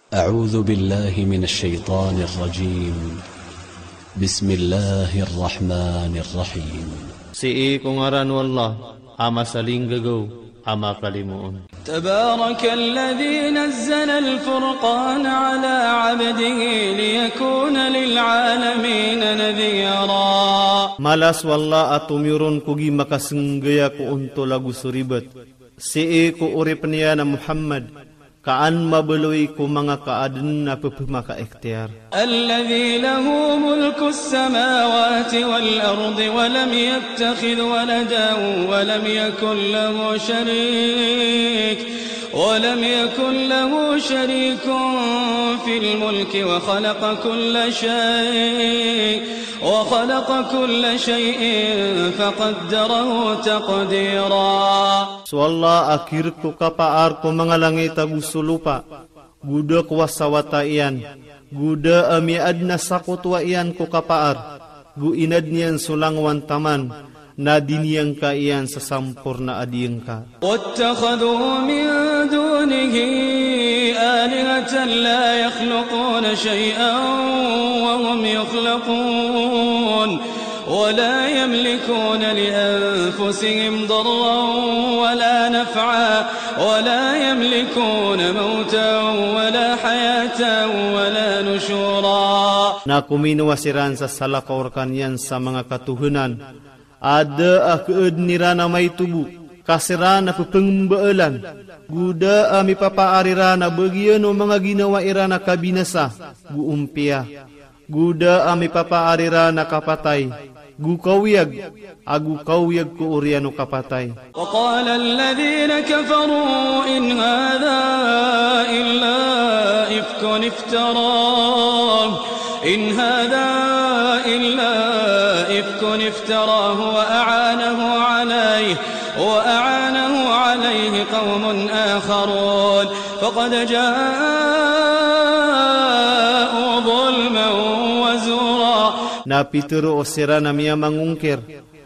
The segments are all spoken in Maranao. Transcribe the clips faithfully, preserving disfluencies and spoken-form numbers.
أعوذ بالله من الشيطان الرجيم. بسم الله الرحمن الرحيم. Sii ko ngaran o Allah a masalinggagaw a makalimoon. تبارك الذي نزل الفرقان على عبده ليكون للعالمين نذيرا. Mala so Allah a tomiyoron ko gii makasenggaya ko ontol ago so ribat, sii ko oripn iyan a Muhammad, ka an mabaloy ko manga kaadn a pphamakaikhtiyar. الذي له ملك السماوات والأرض ولم يتخذ ولدا ولم يكن له شريك، ولم يكن له شريك في الملك وخلق كل شيء، وخلق كل شيء فقدره تقديرا. So Allah a kirk ko kapaar ko manga langit ago so lopa, go da ko wasawata iyan, go da a miyaadn a sakotowa iyan ko kapaar, go inadn iyan so langowan taman, na diniyangka iyan sa samporna a diyangka. واتخذوا من دونه آلهة لا يخلقون شيئا وهم يخلقون ولا يملكون لأنفسهم ضرا ولا نفعا ولا يملكون موتا ولا حياة ولا نشورا. Na kominowa siran sa salakaw rkaniyan sa manga katohanan a da a khaadn iran a maito bo, ka siran a pphangmbaalan, go da a mipapaar iran a bagian o manga ginawa iran a kabinasa go ompiya, go da a mipapaar iran a kapatay go kawiyag, ago kawiyag ko oriyan o kapatay. وقال الذين كفروا إن هذا إلا إفك افتراه، إن هذا إلا إفك افتراه وأعانه عليه، وأعانه عليه قوم آخرون فقد جاءوا ظلما وزورا. Na pitharo o siran a miyamangongkir,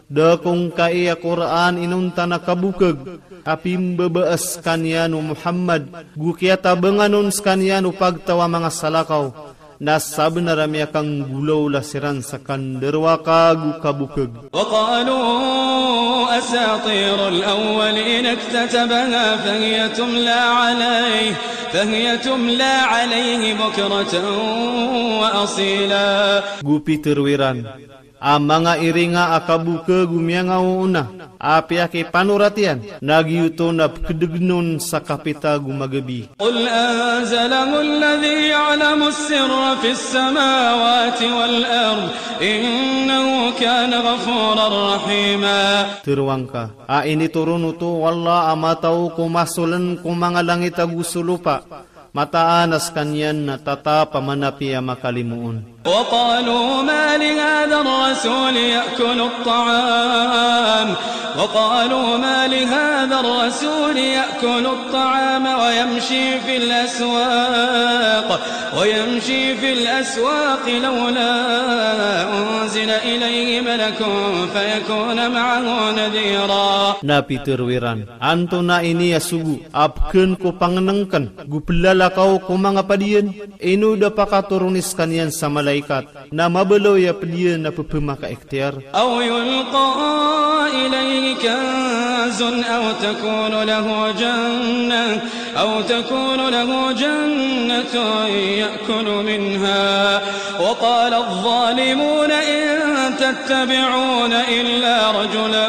da ko ngkai a Qur'an inonta na kabokag a pimbabaas skaniyan o Muhammad, go kiyatabangan on skaniyan o pagtaw a manga salakaw, na sabnar a miyakanggolawla siran sa kandarowaka go kabokag. وقالوا أساطير الأولين اكتتبها فهي تملى عليه، فهي تملى عليه بكرة وأصيلا. Go pitharo iran a manga iringa a kabokag o miyangaoona a piyakipanorat iyan, na giyoto na pkdgn on sa kapita go magabi. قل أنزله الذي يعلم السر في السماوات والأرض إنه كان غفورا رحيما. Tharoangka a initoron oto o Allah a mataw ko masoln ko manga langit ago so lopa, mataan a skaniyan na tatap a manapiya a makalimoon. وقالوا ما لهذا الرسول يأكل الطعام، وقالوا ما لهذا الرسول يأكل الطعام ويمشي في الأسواق، ويمشي في الأسواق لولا أنزل إليه ملك فيكون معه نذيرا. Na pitharo iran, antonaa ini a sogo a pkhan ko pangnngkn go plalakaw ko manga padiyan? Ino da pakatoron i skaniyan sa malaikat na mabaloy a pdiyan a pphamakaikhtiyar. أو يلقى إليه كنز أو تكون له جنة، أو تكون له جنة يأكل منها. وقال الظالمون إن تتبعون إلا رجلا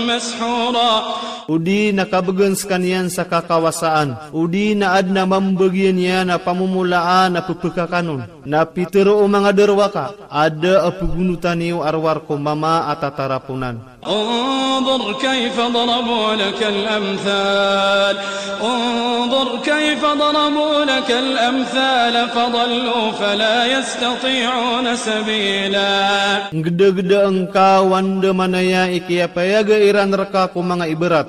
مسحورا. O di na kabgan skaniyan sa kakawasaan, o di na adn a mambagian iyan a pamomolaan a pphakakan on. Na pitharo o manga darowaka a da a pgonotan iyo a rowar ko mama a tataraponan. انظر كيف ضربوا لك الأمثال، انظر كيف ضربوا لك الأمثال فضلوا فلا يستطيعون سبيلا. Nggdagda ngka o andamanaya i kiyapayaga iran rka ko manga ibarat,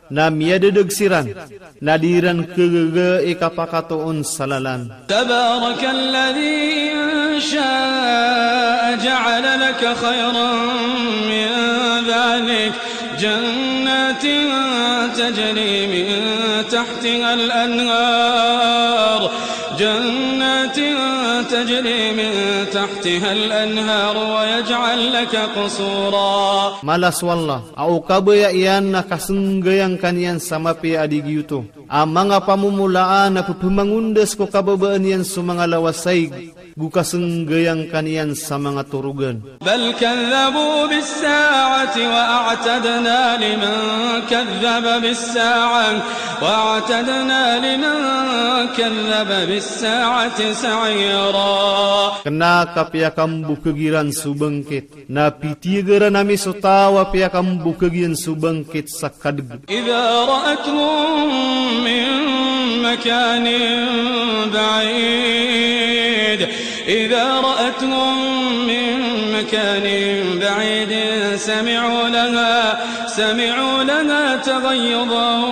na miyadadag siran, na di iran khagaga i kapakatoon sa lalan. تبارك الذي إن شاء جعل لك خيرا من ذلك جنات تجري من تحتها الأنهار، جن تجري من تحتها الأنهار ويجعل لك قصورا. Mala so Allah a o kabaya iyan na kasenggayangka niyan sa mapiya a di giyoto a manga pamomolaan a pepemangondas ko kababaan iyan so manga lawasaig, go kasenggayangka niyan sa manga torogan. بل كذبوا بالساعة وأعتدنا لمن كذب بالساعة، وأعتدنا لمن كذب بالساعة سعيرا. Kena ka piyakambokeg iran so bangkit, na pitiyagaran ami so taw a piyakambokeg iyan so bangkit sa kadeg. إذا رأتهم من مكان بعيد، إذا رأتهم من مكان بعيد سمعوا لها، سمعوا لها تغيظا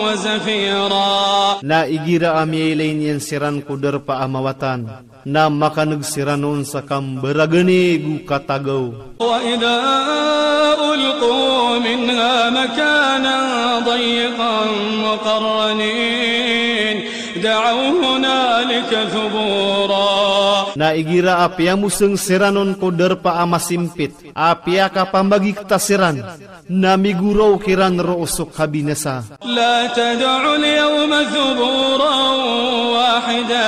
وزفيرا. Na igira a miyailay niyan siran ko darpa a mawatan, na makaneg siran on sa kambaragani go katagaw. وإذا ألقوا منها مكانا ضيقا مقرنين دعوا هنالك ثبورا. Na igira a piyamoseng siran on ko darpa a masimpit a piyakapamagikta siran, na migoraok iran roo so kabinasa. لا تدعوا اليوم ثبورا واحدا،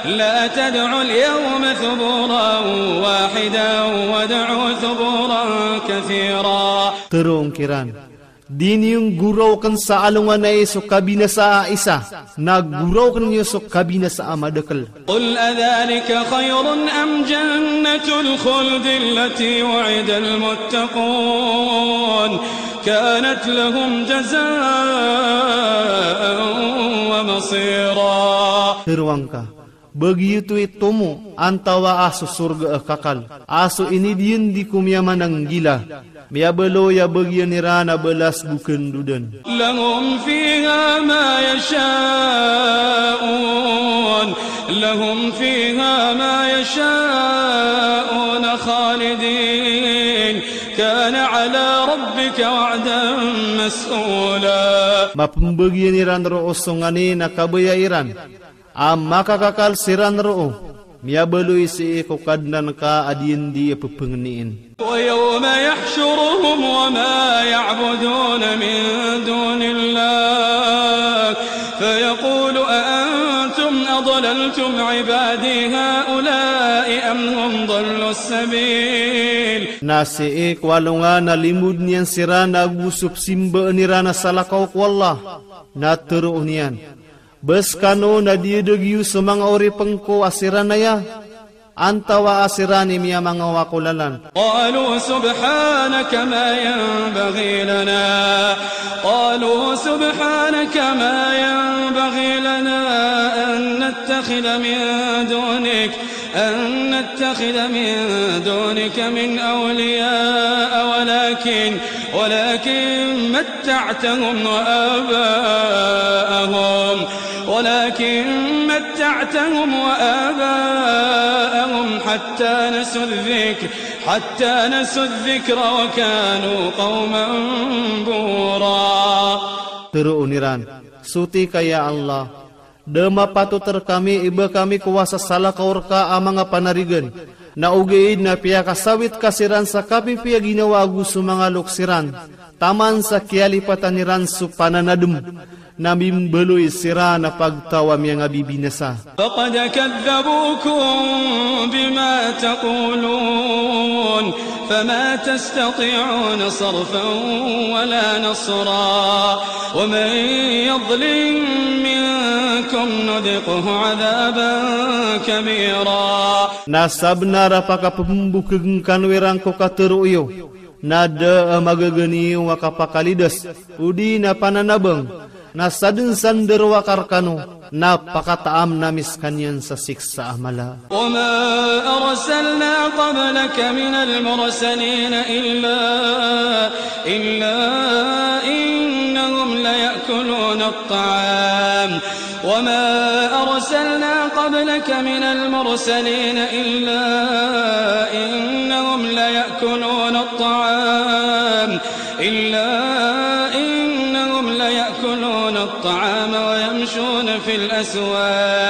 لا تدعوا اليوم ثبورا واحدا وادعوا ثبورا كثيرا. Teroon kiran, di niyo goraoken sa alongan ai so kabinasa a isa, na goraoken iyo so kabinasa a madakel. قل أذلك خير أم جنة الخلد التي وعد المتقون كانت لهم جزاء ومصيرا. Tero angka, ba giyoto i tomo antawaa so sorga a kakal a so inidiyen di ko miyamananggila, miyabaloy a bagiyan iran a balas go kendodan. لهم فيها ما يشاءون، لهم فيها ما يشاءون خالدين، كان على ربك وعدا مسئولا. Mapembagiyan iran roo so nganin a kabaya iran a makakakal siran roo, miyabaloy sii ko Kadnan ka a diyen di a pepengenien. ويوم يحشرهم وما يعبدون من دون الله فيقول أأنتم أضللتم عبادي هؤلاء أم هم ضلوا السبيل. Na sii ko alongan a limod niyan siran ago so pesimbaan iran a salakaw ko Allah, na teroon iyan, ba sekano na diyadeg iyo so manga oripen ko a siran aya, antawaa siran i miyamangawa ko lalan? قالوا سبحانك ما ينبغي لنا، قالوا سبحانك ما ينبغي لنا أن نتخذ من دونك، أن نتخذ من دونك من أولياء، ولكن، ولكن متعتهم وآباءهم، ولكن متعتهم وآباءهم حتى نسوا الذكر، حتى نسوا الذكر وكانوا قوما بورا. Teroon iran, soti ka ya Allah, da mapatot rekami i ba kami kowasa salakaw reka a manga panarigan, na ogaid na piyakasawit ka siran sa kapipiya ginawa ago so manga loks iran, taman sa kiyalipatan iran so pananadem, na mimbaloy siran a pagtaw a miyangabibinasa. فقد كذبوكم بما تقولون فما تستطيعون صرفا ولا نصرا ومن يظلم منكم نذقه عذابا كبيرا. Na sabenar a pakapembokegen kano iran ko katero iyo, na da a magagani iyo a kapakalidas, odi na pananabang, na saden sa ndarowaka rekano, na pakataam ami sekaniyan sa siksa a mala. وما أرسلنا قبلك من المرسلين إلا، إلا إنهم ليأكلون الطعام. وما أرسلنا قبلك من المرسلين إلا إنهم ليأكلون الطعام، إلا إنهم ليأكلون الطعام ويمشون في الأسواق.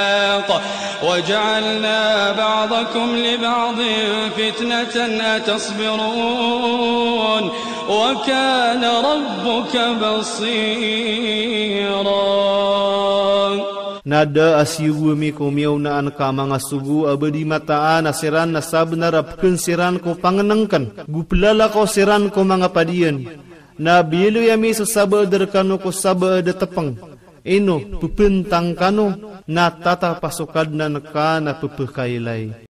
وجعلنا بعضكم لبعض فتنة أتصبرون وكان ربك بصيرا. Na da a siyogo ami ko miyaonaan ka a manga sogo a ba di mataan a siran na sabenar a peken siran ko pangenengken, go pelalakaw siran ko manga padiyan. Na biyaloy ami so sabaad rekano ko sabaad a tepeng. Ino, pepentang kano, na tatap a so Kadnan ka na pepekailay.